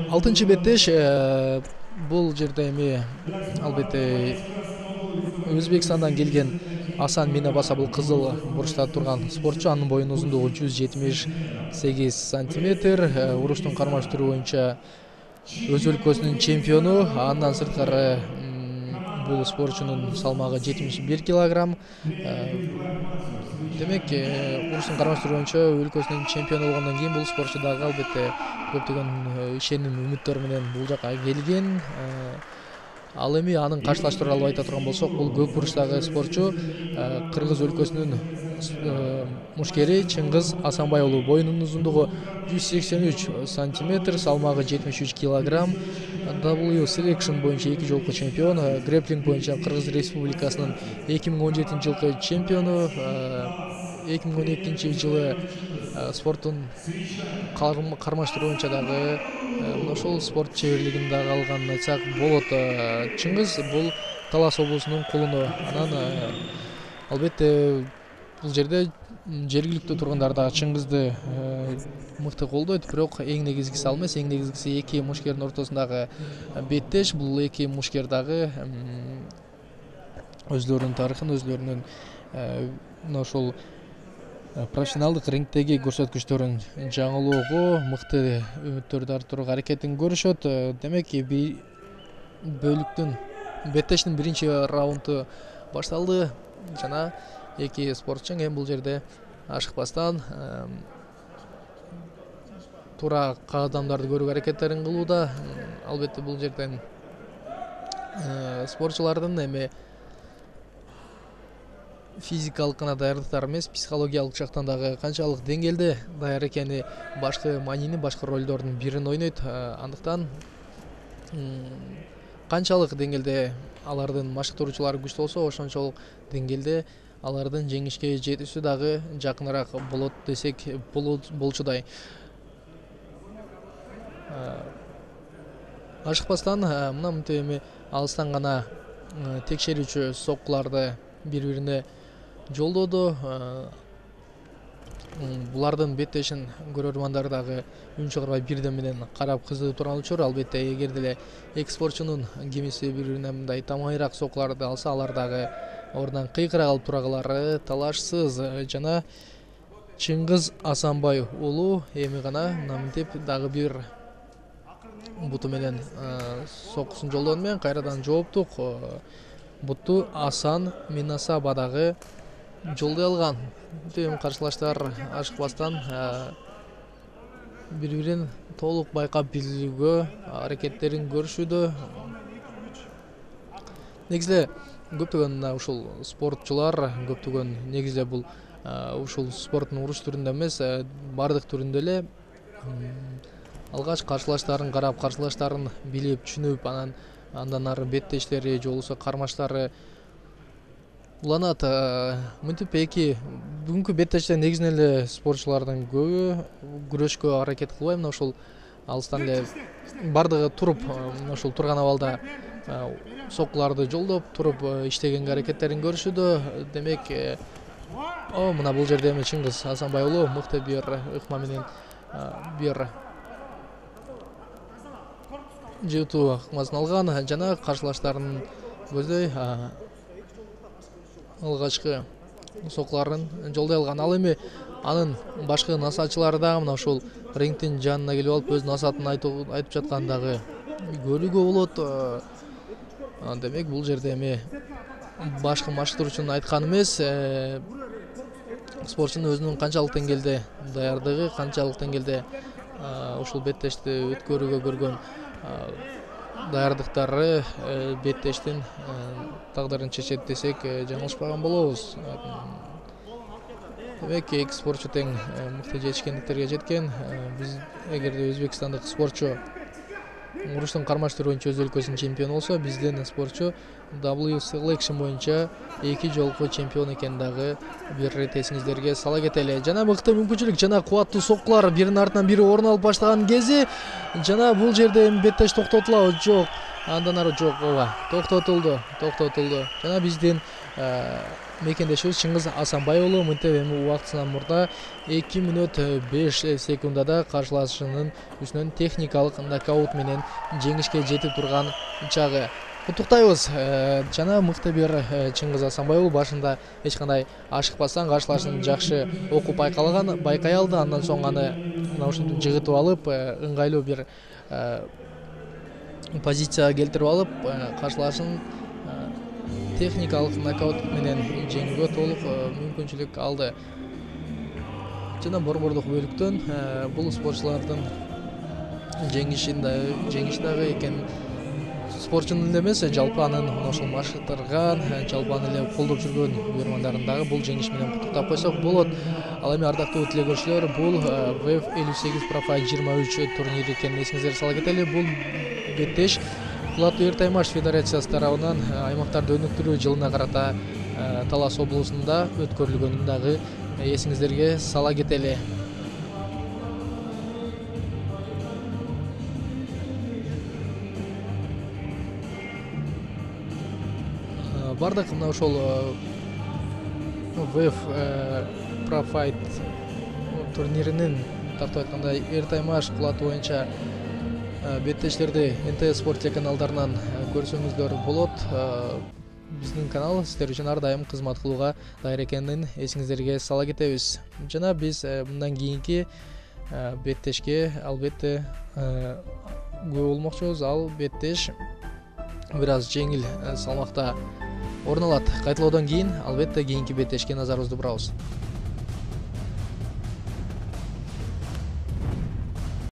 Алтынчы беттеш бул жерде эми албетте Өзбекстандан келген Асан Минабаса бул кызыл бурчта турган спортчу. Анын боюнун узундугу 178 сантиметр. Уруштун кармаш түрү боюнча өз өлкөсүнүн чемпиону. Андан сырткары бул спортчунун салмагы 71 килограмм. Демек, уруштун кармаш түрү боюнча өлкөсүнүн чемпиону болгондон кийин бул спортчу дагы албетте көптөгөн ишеним, үмүттөр менен бул жака келген. Ал эми анын каршылаштыруу алып айта турган болсок, бул көк бурчтагы спортчу Кыргыз өлкөсүнүн мушкери Чыңгыз Асанбай уулу. Боюнунун узундугу 183 сантиметр, салмагы 73 килограмм. W Selection боюнча 2 жолку чемпион, грэплинг боюнча Кыргыз Республикасынын 2017 жылкы чемпиону, 2012 жылы спорттун кармаштыруу боюнча дагы ошол спорт чеберлигин дагы алганын айтсак болот. Чыңгыз бул Талас облусунун кулуну. Анан албетте бул жерде жергиликтүү тургундар дагы Чыңгызды мыкты колдойт, бирок эң негизгиси ал эмес. Эң негизгиси эки мушкердин ортосундагы беттеш. Бул эки мушкер дагы өзлөрүнүн тарыхын, өзлөрүнүн ошол профессионалдык рингдеги көрсөткүчтөрүн жаңылоого, мыкты үмүттөрдү арттырууга аракетин көрүшөт. Демек, бөлүктүн беттештин биринчи раунду башталды жана эки спортчу эми бул жерде ашыкпастан туура кадамдарды көрүүгө аракеттерин кылууда. Албетте бул жерден спортчулардын эми физикалык гана даярдыктары эмес, психологиялык жактан дагы канчалык деңгээлде даяр экени башкы маанини, башкы ролдордун бирин ойнойт. Андыктан канчалык деңгээлде алардын машыктыруучулары күчтүү болсо, ошончолук деңгээлде алардын жеңишке жетүүсү дагы жакыныраак болот десек болчудай. Ашыкпастан мына мынтип эми алыстан гана текшерүүчү соккуларды бири-бирине жолдоду. Булардын беттешин көрөрмандар дагы үн чыгарбай бирден менен карап кызыгып турган учур. Албетте, эгер деле эки спортчунун кимиси бири-бирине мындай тамайыраак соккуларды алса, алар дагы ордунан кыйкыра калып турагылары талашсыз. Жана Чыңгыз Асанбай уулу эми гана мынтип дагы бир буту менен соккусун жолдону менен кайрадан жооптук бутту Асан Минасаба дагы жолдой алган. Эми каршылаштар ашыкпастан бири-бирин толук байкап билүүгө аракеттерин көрүшүүдө. Негизи көптөгөн ушул спортчулар, көптөгөн негизи бул ушул спорттун уруш түрүндө эмес, бардык түрүндө эле алгач каршылаштарын карап, каршылаштарын билип, түшүнүп, андан ары беттештери же болбосо кармаштары уланат. Мынтип бүгүнкү беттеште негизинен эле спортчулардын көбү күрөшкө аракет кылбай, мына ушул алыстан эле бардыгы туруп, ушул турган абалда соккуларды жолдоп туруп иштегенге аракеттерин көрүшүүдө. Демек, мына бул жерде эми Чыңгыз Асанбай уулу мыкты бир ыкма менен бир жыйтуу ыкмасын алган жана каршылаштарын көздөй алгачкы соккуларын жолдой алган. Ал эми анын башкы насаатчылары дагы мына ушул рингдин жанына келип алып өз насаатын айтып жаткан дагы көрүүгө болот. Демек, бул жерде эми башкы машыктыруучунун айтканы эмес, спортчунун өзүнүн канчалык деңгээлде даярдыгы, канчалык деңгээлде ушул беттешти өткөрүүгө көргөн даярдыктары беттештин тагдырын чечет десек жаңылышпаган болобуз. Демек, эки спортчу тең мыкты жетишкендиктерге жеткен. Биз эгерде өзбекстандык спортчу уруштун кармаш түрү боюнча өз өлкөсүнүн чемпиону болсо, биздин спортчу W Selection боюнча 2 жолку чемпион экенин дагы бир ирет эсиңиздерге сала кетели. Жана мыкты мүмкүнчүлүк, жана кубаттуу соккулар биринин артынан бири орун алып баштаган кези жана бул жерде эми беттеш токтотулабы? Жок. Андан ары жок. Токтотулду. Жана биздин мекендешибиз Чыңгыз Асанбай уулу мынтип эми убактысынан мурда 2 мүнөт 5 секундада каршылашынын үстүнөн техникалык нокаут менен жеңишке жетип турган чагы. Куттуктайбыз жана мыкты бир Чыңгыз Асанбай уулу башында эч кандай ашыкпастан каршылашын жакшы окуп байкай алды. Андан соң аны мына ушинтип жыгытып алып, ыңгайлуу бир позицияга келтирип алып, каршылашын техникалык нокаут менен жеңүүгө толук мүмкүнчүлүк алды. Жана борбордук бөлүктөн бул спортчулардын жеңиши дагы экен. Спортчунун эле эмес, жалпы анын ошол машыктырган, жалпы аны эле колдоп жүргөн угармандарын дагы бул жеңиш менен куттуктап койсок болот. Ал эми ардактуу телекөрүүчүлөр, бул WEF 58 Pro Fight 23 турнири экенин эсиңиздерге сала кетели. Бул беттеш Кулаттуу Эртаймаш федерациясы тарабынан аймактарды өнүктүрүү жылына карата Талас облусунда өткөрүлгөнүн дагы эсиңиздерге сала кетели. Бардык мына ошол WEF Pro Fight турниринин тартып айтканда Эртаймаш Кулаты боюнча беттештерди НТ Спорт телеканалдарынан көрсөңүздөр болот. Биздин канал сиздер үчүн ар дайым кызмат кылууга даяр экенин эсиңиздерге сала кетебиз. Жана биз мындан кийинки беттешке албетте күбө болмокчубуз. Ал беттеш бир аз жеңил салмакта орун алат. Кайталоодон кийин албетте кийинки беттешке назарыбызды бурабыз.